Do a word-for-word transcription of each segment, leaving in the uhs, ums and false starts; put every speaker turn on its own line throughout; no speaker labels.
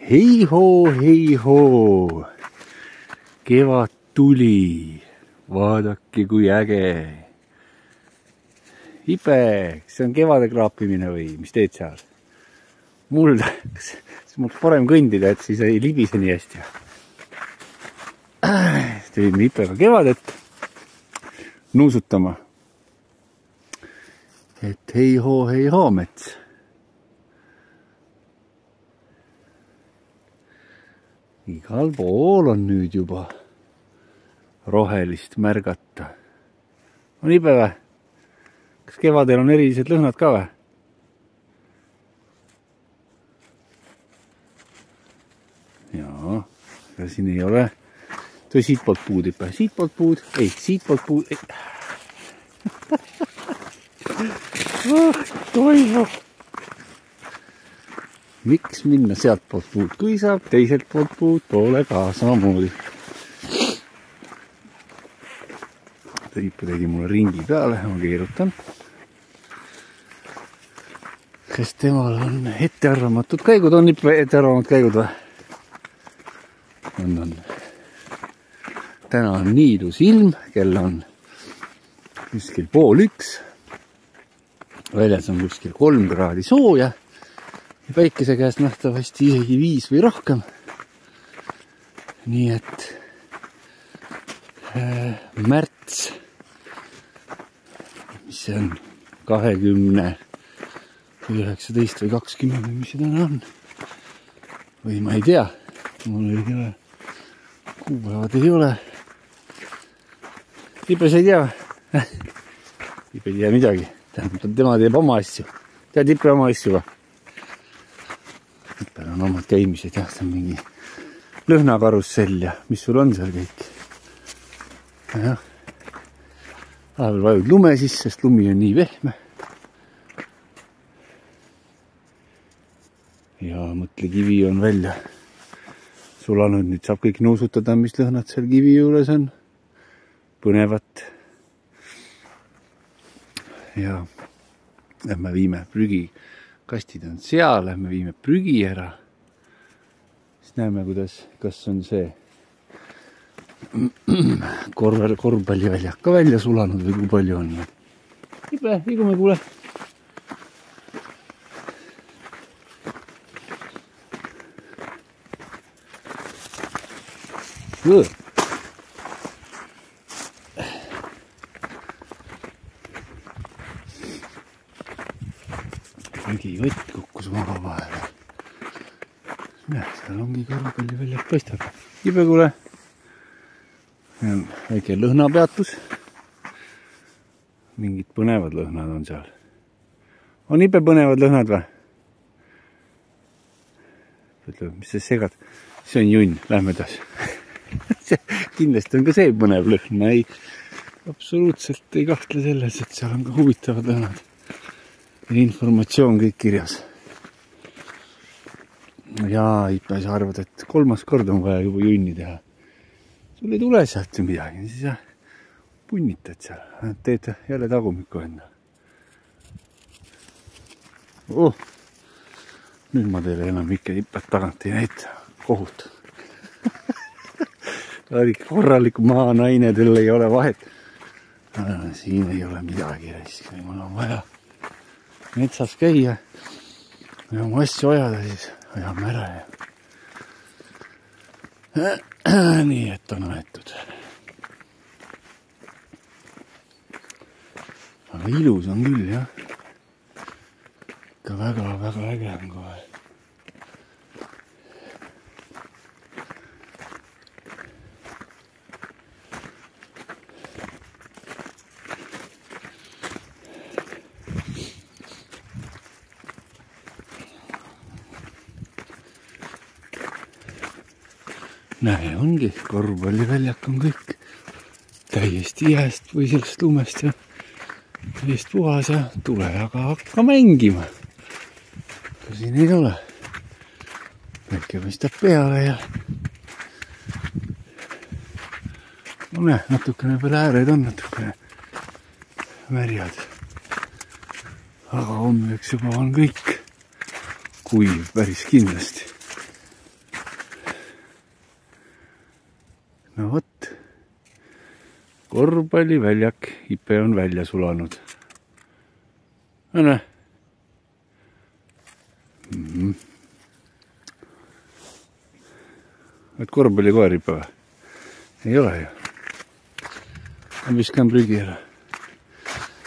Hei-hoo, hei-hoo, kevad tuli, vaadake kui äge. Ibe, kas see on kevade kraapimine või mis teed seal? Mul, kas mul parem kõndida, et siis ei libise nii hästi. Tegime Ipega kevadet nuusutama. Et hei-hoo, hei-hoo mets. Igal pool on nüüd juba rohelist märgata. On Ibe vä? Kas kevadel on erilised lõhnad ka vä? Jaa, aga siin ei ole. Toi siitpoolt puud Ibe. Siitpoolt puud. Ei, siitpoolt puud. Ei. Oh, toimub. Miks minna sealt poolt puud, kui saab teiselt poolt puud poole ka samamoodi. Ipe tegi mulle ringi peale, ma keerutan. Sest temal on ettearvamatud käigud, on Ipe ettearvamatud käigud või? On, on. Täna on nii ilus ilm, kell on kuskil pool üks. Väljas on kuskil kolm kraadi sooja. Ja päikese käest nähtavasti isegi viis või rohkem. Nii et äh, märts, mis see on, kahekümne või üheksateist või kakskümmend või mis see täna on. Või ma ei tea, mul ei ole, kuupäevad ei ole. Ibe sa ei tea või? Ibe ei tea midagi, tema teeb oma asju. Tead Ibe oma asju või? Ipel on omad käimised, jah, see on mingi lõhnakarussell ja mis sul on seal kõik. Jah, vahepeal vajud lume sisse, sest lumi on nii vehme. Ja mõtle, kivi on välja sulanud, nüüd saab kõik nuusutada, mis lõhnad seal kivi juures on. Põnevat. Ja lähme viime prügi. Kastid on seal, lähme viime prügi ära. Siis näeme, kuidas, kas on see korv, korvpalliväljak ka välja sulanud või kui palju on. Ibe, liigume kuule. Õõ. Prügivõtt kukkus maha vahele. Näe, seal ongi korvpalli väljak paistab. Ibe kuule. Väike lõhnapeatus. Mingid põnevad lõhnad on seal. On Ibe põnevad lõhnad või? Ütleb, mis sa segad? See on junn, lähme taas. Kindlasti on ka see põnev lõhn. Ma ei, absoluutselt ei kahtle selles, et seal on ka huvitavad lõhnad. Ja informatsioon kõik kirjas. Jaa, Ipe, sa arvad, et kolmas kord on vaja juba junni teha. Sul ei tule sealt ju midagi, siis jah, punnitad seal. Teed jälle tagumiku enda. Oh, nüüd ma teile enam ikka Ipet tagant ei näita. Kohut. Korralik maa naine, teil ei ole vahet. Siin ei ole midagi, kui mul on vaja metsas käia ja oma asju ajada, siis ajame ära ja nii, et on aetud. Aga ilus on küll, jah. Ikka väga, väga äge on kohe. Näe, ongi, korvpalliväljak on kõik täiesti jääst või sellest lumest ja täiesti puhas ja tule aga hakka mängima. Aga siin ei ole. Väike mõistab peale ja no näe, natukene peale ääred on natukene märjad. Aga hommeks juba on kõik kuiv päris kindlasti. no vot, korvpalliväljak, Ipe on välja sulanud. No näe. Mm -hmm. Oled korvpallikoer, Ipe või? Ei ole ju. Ma viskan prügi ära.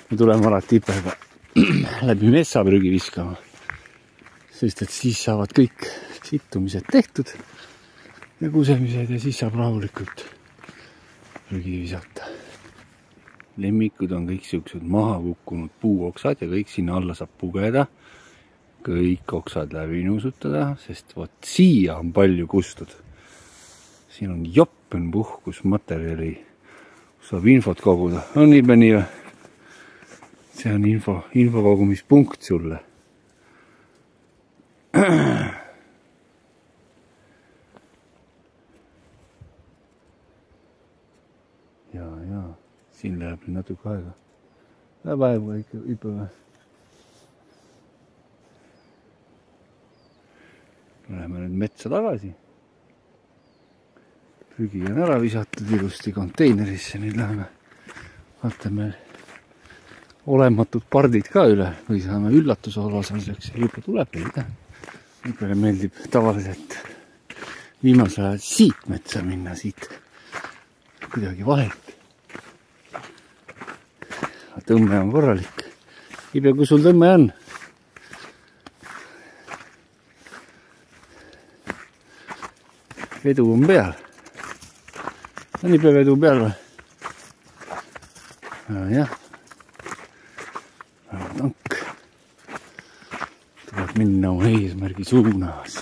Me tuleme alati Ipega läbi metsa prügi viskama. Sest et siis saavad kõik sittumised tehtud ja kusemised ja siis saab rahulikult prügi visata. Lemmikud on kõik siuksed maha kukkunud puuoksad ja kõik sinna alla saab pugeda. Kõik oksad läbi nuusutada, sest vot siia on palju kustud. Siin on joppen puhkusmaterjali, saab infot koguda. On Ibe nii või? See on info, infokogumispunkt sulle. Ja, ja, siin läheb natuke aega. Läheb aega ikka Ibe või? Läheme nüüd metsa tagasi. Prügi on ära visatud ilusti konteinerisse, nüüd läheme vaatame olematud pardid ka üle või saame üllatuse osaliseks. Ibe tuleb meile. Ibele meeldib tavaliselt viimasel ajal siit metsa minna, siit kuidagi vahelt. Tõmme on korralik. Ibe, kui sul tõmme on? Vedu on peal. On Ibe vedu peal või? No, jah. Tank. Tuleb minna oma eesmärgi suunas.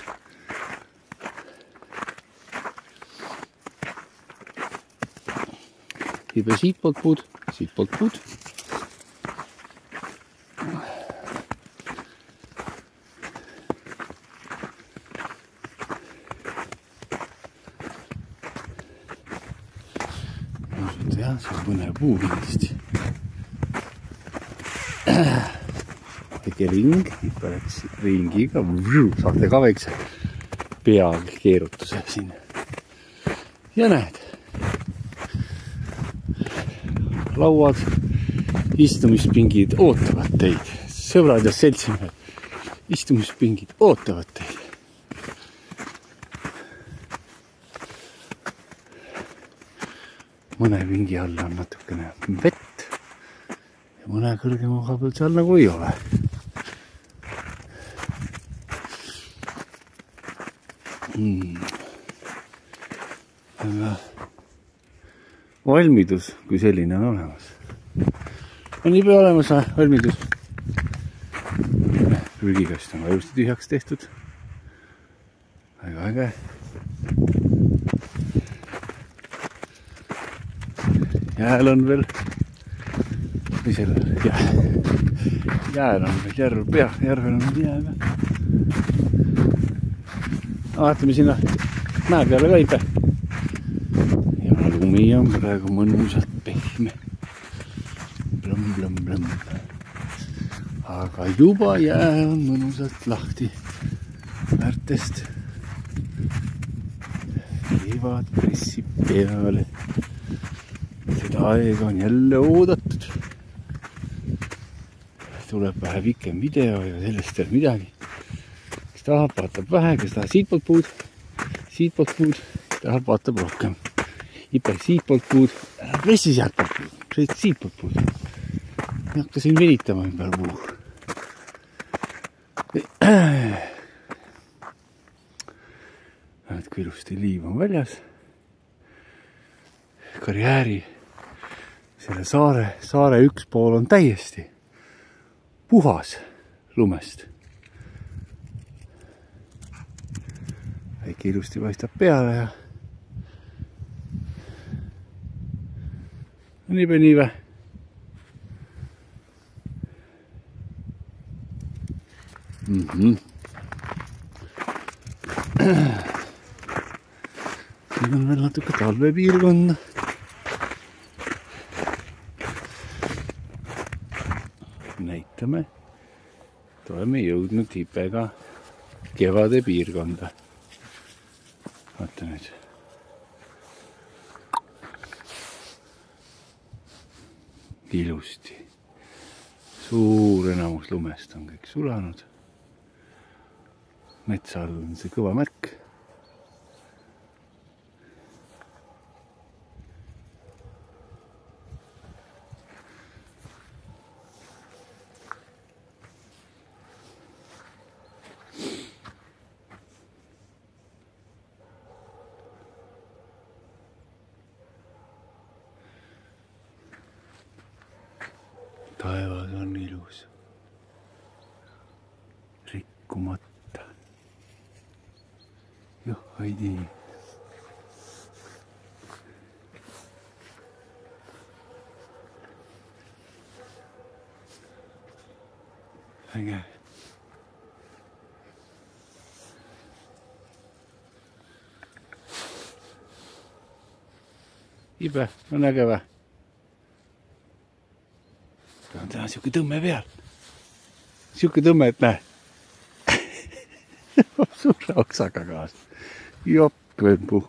Ibe siitpoolt puud, siitpoolt puud. Jah, see on põnev puu kindlasti. Väike ring, Ipe läks ringiga, saate ka väikse peakeerutuse siin. Ja näed, lauad, istumispingid ootavad teid. Sõbrad ja seltsimehed, istumispingid ootavad teid. Mõne pingi all on natukene vett ja mõne kõrgema koha peal seal nagu ei ole. Hmm. Aga valmidus kui selline on olemas. On Ibe olemas valmidus. Prügikast on vajusti tühjaks tehtud. Väga äge. Jääl on veel, või sellel, jääl on veel järv pea, järvel on veel jää peal. Vaatame sinna mäe peale ka Ibe. Ja lumi on praegu mõnusalt pehme. Blõmm, blõmm, blõmm. Aga juba jää on mõnusalt lahti väärtest. Kevad pressib peale. Seda aega on jälle oodatud. Tuleb vähe pikem video ja sellest ei midagi. Kes tahab, vaatab vähe, kes tahab siitpoolt puud, siitpoolt puud, kes tahab, vaatab rohkem. Ipe siitpoolt puud, ära pressi sealtpoolt puud, pressi siitpoolt puud. Ma hakka siin venitama ümber puu. Näed, kui ilusti liiv on väljas. Karjääri selle saare, saare üks pool on täiesti puhas lumest. Väike ilusti paistab peale ja on Ibe nii vä? Mm-hmm. Siin on veel natuke talvepiirkonna. Näitame, et oleme jõudnud Ipega kevade piirkonda. Vaata nüüd. ilusti. Suur enamus lumest on kõik sulanud. Metsa all on see kõva märk. Taevas on ilus, rikkumata. Joh, Heidi. Äge. Ibe, on äge vä? On täna siuke tõmme peal. Siuke tõmme, et näe. Suure oksaga kaas. Joppenpuu.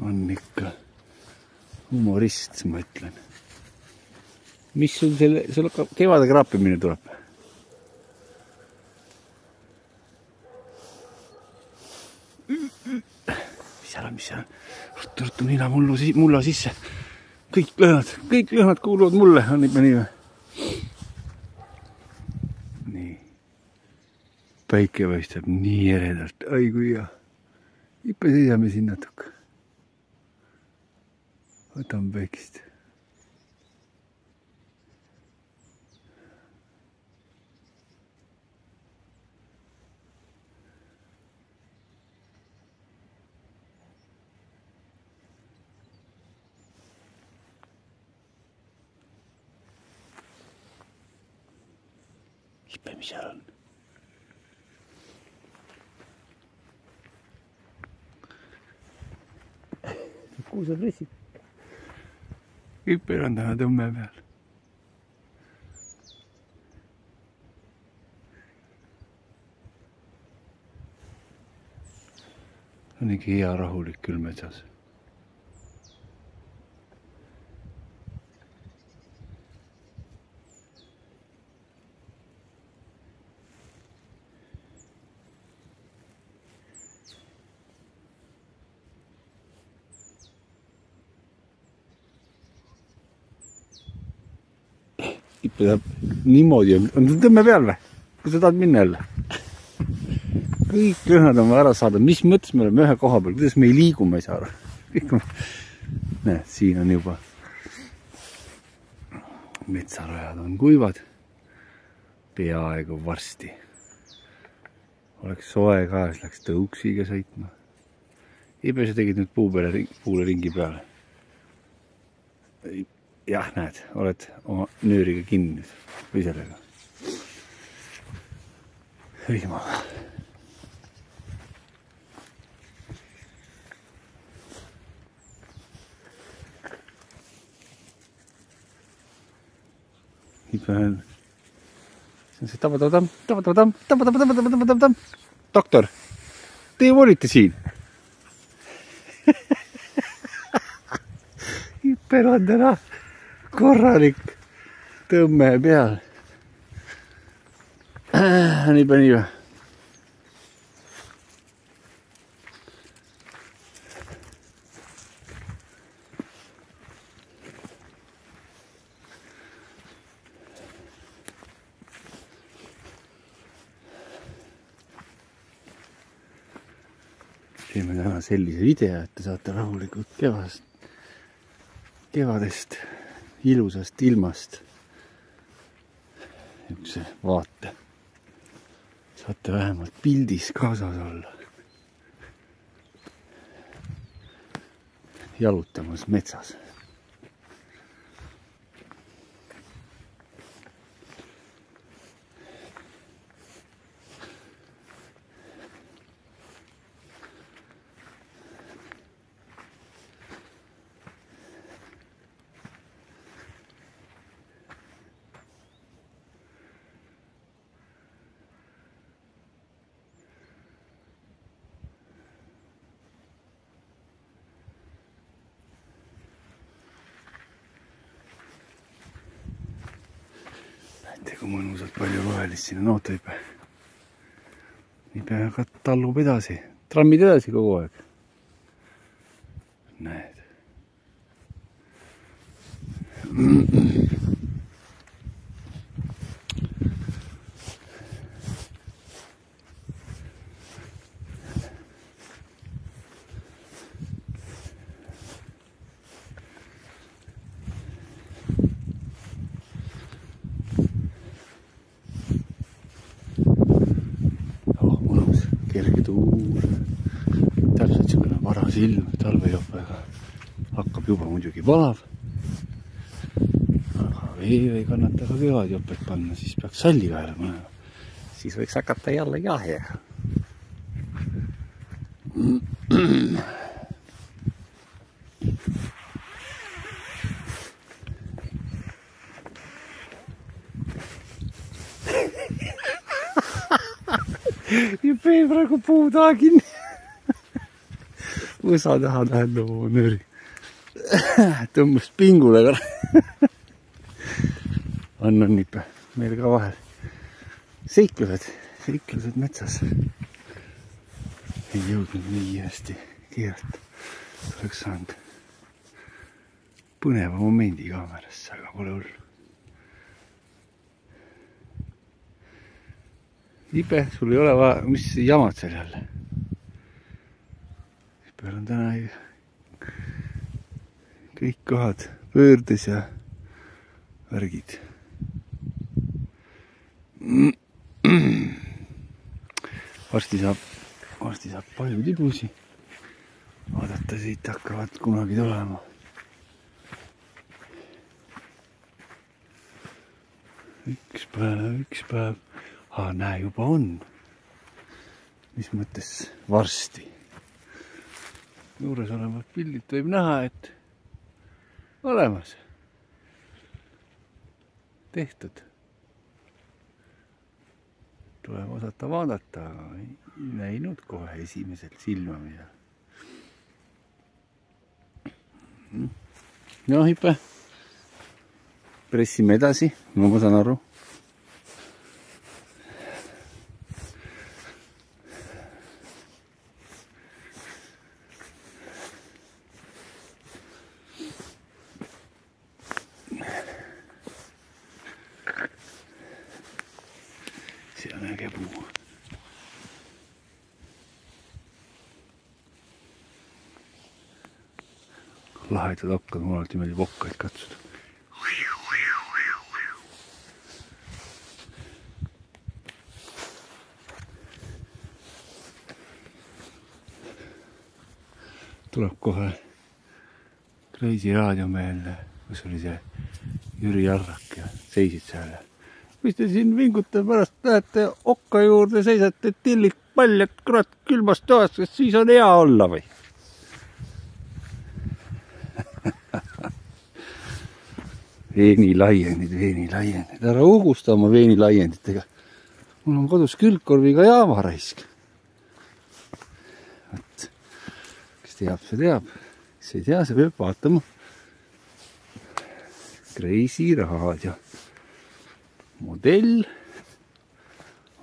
On ikka humorist, ma ütlen. Mis sul selle, sul kevade kraapimine tuleb? Mis seal on, mis seal on? Ruttu, ruttu, nina mullu, mulla sisse. Kõik lõhnad, kõik lõhnad kuuluvad mulle, on ikka nii või? Nii. Päike paistab nii eredalt, ai kui hea. Ikka seisame siin natuke. Võtame päikest. Ipe, mis seal on? Kuusab rissid. Ipe on täna tõmme peal. On ikka hea rahulik küll metsas. Ippe tahab niimoodi, on ta tõmme peal või? Kus sa tahad minna jälle? Kõik lõhnad on ära saada. Mis mõttes me oleme ühe koha peal? Kuidas me ei liigu, ma ei saa aru. Näed, siin on juba metsarajad on kuivad. Peaaegu varsti. Oleks soe ka, siis läks tõuksiga sõitma. Ipe, sa tegid nüüd puu peale, puule ringi peale. Jah, näed, oled oma nööriga kinni või sellega. Hõima. Ipe on see on see tabatabatam, tabatabatam, tabatabatam, tabatabatam. Doktor, teie olite siin. Ipe on täna korralik tõmme peal. Nii pani või? Teeme täna sellise video, et te saate rahulikult kevadest, kevadest ilusast ilmast niisuguse vaate. Saate vähemalt pildis kaasas olla. Jalutamas metsas. näete, kui mõnusalt palju rohelist siin on. Oota, Ipe. Ipe aga tallub edasi. Trammid edasi kogu aeg. Näed. Oh, mõnus, kerge tuul. Täpselt siukene varas ilm, talvejopega. Hakkab juba muidugi valav. Aga vee ei kannata ka kevadjopet panna, siis peaks salli kaela panema. Siis võiks hakata jälle jahjega. Ja pee praegu puu taha kinni. Võsa taha tähendab oma nööri. Tõmbas pingule ka. On, on Ipe. Meil ka vahel. Seiklused. Seiklused metsas. Ei jõudnud nii hästi kiirelt. Oleks saanud põneva momendi kaamerasse, aga pole hullu. Ipe, sul ei ole vaja, mis jamad seal jälle? Ipel on täna kõik kohad pöördes ja värgid. Varsti saab, varsti saab palju tibusi. Vaadata siit hakkavad kunagi tulema. Üks päev, üks päev. Aa, näe, juba on. Mis mõttes varsti. Juures olevat pildit võib näha, et olemas. Tehtud. Tuleb osata vaadata, aga ei näinud kohe esimesel silmamisel. No, Ipe. Pressime edasi, no ma saan aru. See on äge puu. Lahedad hakkad, mul alati meeldib okkaid katsuda. Tuleb kohe Kreisi raadiomeelne, kus oli see Jüri Arrak ja seisid seal. Mis te siin vingute pärast lähete okka juurde, seisate tillit paljad kurat külmast toast, sest siis on hea olla või? Veenilaiendid, veenilaiendid. Ära ugusta oma veenilaienditega. Mul on kodus külgkorviga jaavaraisk. Võt. Kes teab, see teab. Kes ei tea, see peab vaatama. Kreisi raadio. Modell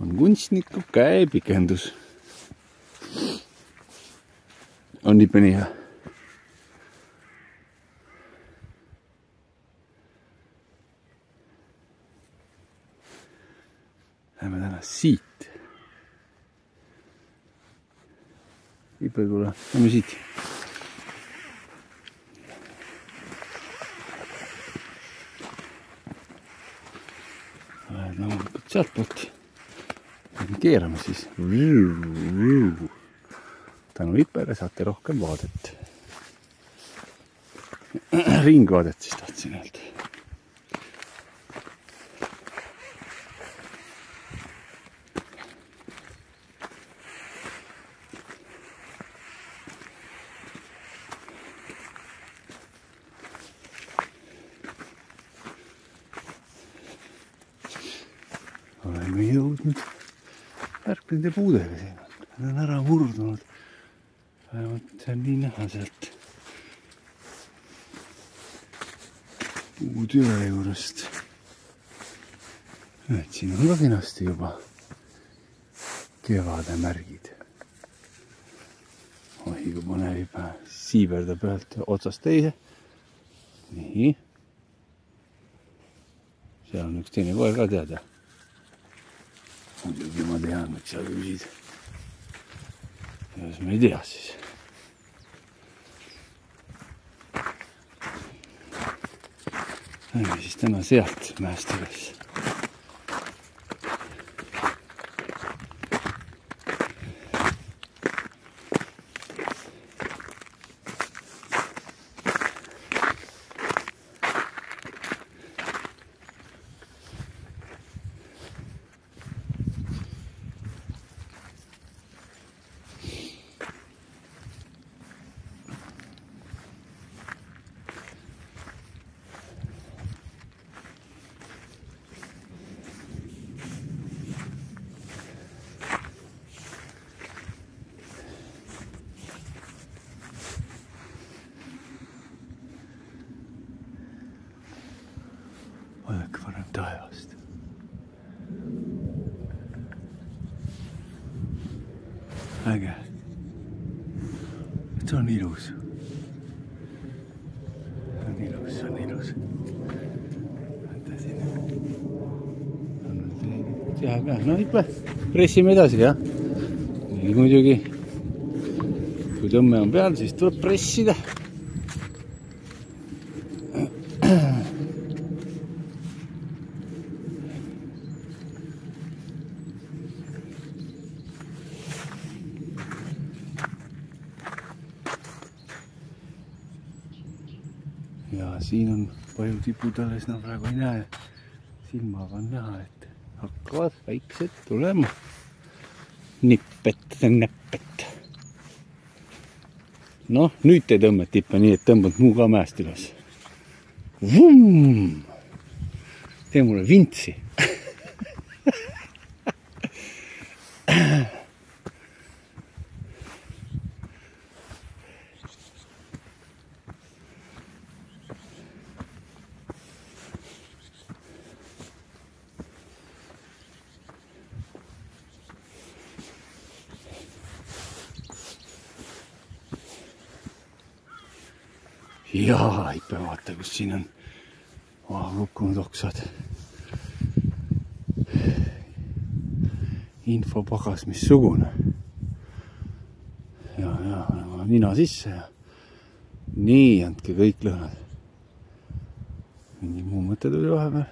on kunstniku käepikendus. On Ipe nii hea. Lähme täna siit. Ipe, tule, lähme siit. Loomulikult sealt poolt. Keerame siis. Tänu Ipele saate rohkem vaadet. Ringvaadet siis tahtsin öelda. Oleme jõudnud värknende puudega siin. Nad on ära murdunud. Vähemalt see on nii näha sealt puutüve juurest. et siin on ka kenasti juba kevade märgid. Oi, kui põnev juba siiberdab ühelt otsast teise. Nii. Seal on üks teine koer ka teada. Muidugi ma tean, miks sa küsid. Jos me ei tea siis. Lähme siis täna sealt mäest üles. Vaadake varem taevast. Äge. See on ilus. See on ilus, see on ilus. Võtta sinna. Teha ka. No ikka pressime edasi, jah. Nii muidugi. Kui tõmme on peal, siis tuleb pressida. Ja siin on palju tipud alles, no praegu ei näe. Silmaga on näha, et hakkavad väiksed tulema. Nippet, näppet. Noh, nüüd te tõmbad tippe nii, et tõmbad muu ka mäest üles. Vum! Tee mulle vintsi. Jaa, ikka vaata, kus siin on oh, kukkunud oksad. Infopagas, mis sugune. Ja, ja, nina sisse ja nii, andke kõik lõhnad. Mingi muu mõte tuli vahepeal.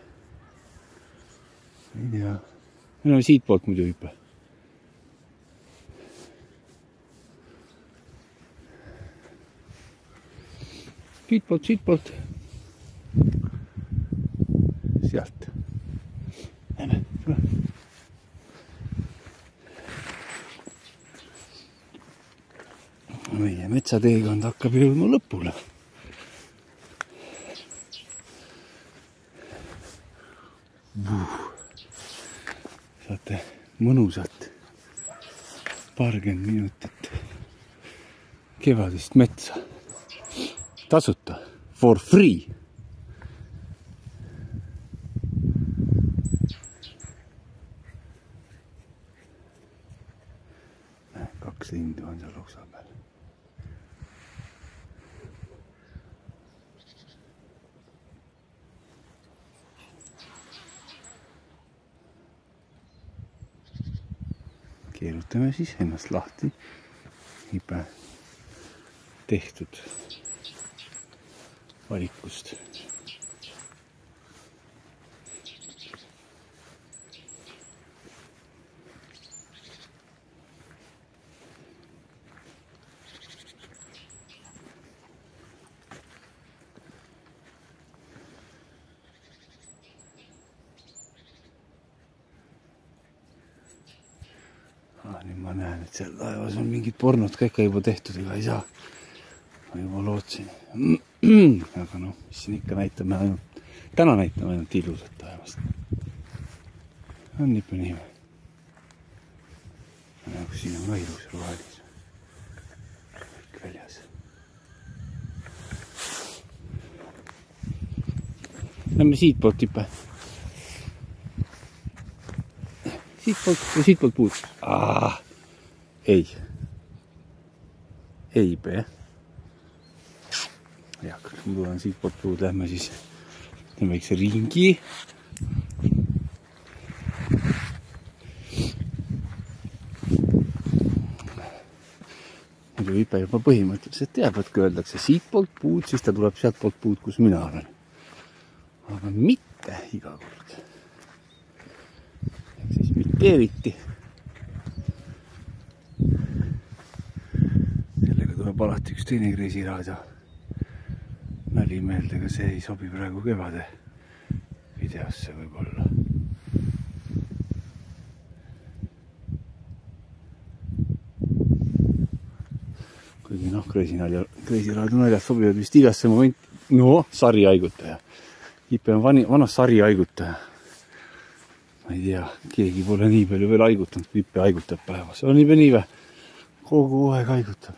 Ei tea. Meil on siit poolt muidu hüppe. Siit poolt, siit poolt. Sealt. Lähme, tule. Meie metsateekond hakkab jõudma lõpule. Saate mõnusalt paarkümmend minutit kevadist metsa. Tasuta, for free. Kaks lindu on seal oksa peal. Keerutame siis ennast lahti. Ipe tehtud valikust. Ah, nüüd ma näen, et seal laevas on mingid pornod ka ikka juba tehtud, ega ei saa. Ma juba lootsin. Aga noh, mis siin ikka näitame ainult, täna näitame ainult ilusat taevast. On nipa nii. Aga siin on ka ilus rohelis. Kõik väljas. Lähme siit poolt tippe. siitpoolt ja siitpoolt puud. Ah, ei. Ei pea. Ja, kui ma tulen siitpoolt puud, lähme siis teeme väikse ringi. Muidu Vipe juba põhimõtteliselt teab, et kui öeldakse siitpoolt puud, siis ta tuleb sealt poolt puud, kus mina olen. Aga mitte iga kord. Ehk siis mitte eriti. Sellega tuleb alati üks teine kreisiraadio mäli meelde, aga see ei sobi praegu kevade videosse võib-olla. Kuigi noh, kreisiraadio naljad sobivad vist igasse moment. No, sari haigutaja. Vipe on vani, vanas sari haigutaja. Ma ei tea, keegi pole nii palju veel haigutanud, kui Vipe haigutab päevas. On Vipe nii või? Kogu aeg haigutab.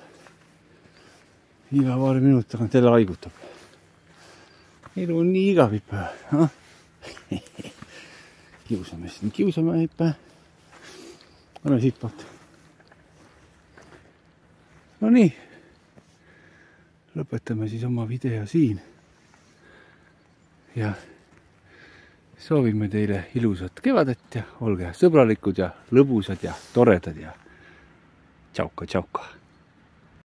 Iga paari minut tagant jälle haigutab. Elu on nii igav, Vipe. Kiusame siin, kiusame, Vipe. Anna siitpoolt. No nii, lõpetame siis oma video siin ja soovime teile ilusat kevadet ja olge sõbralikud ja lõbusad ja toredad ja tšauka, tšauka.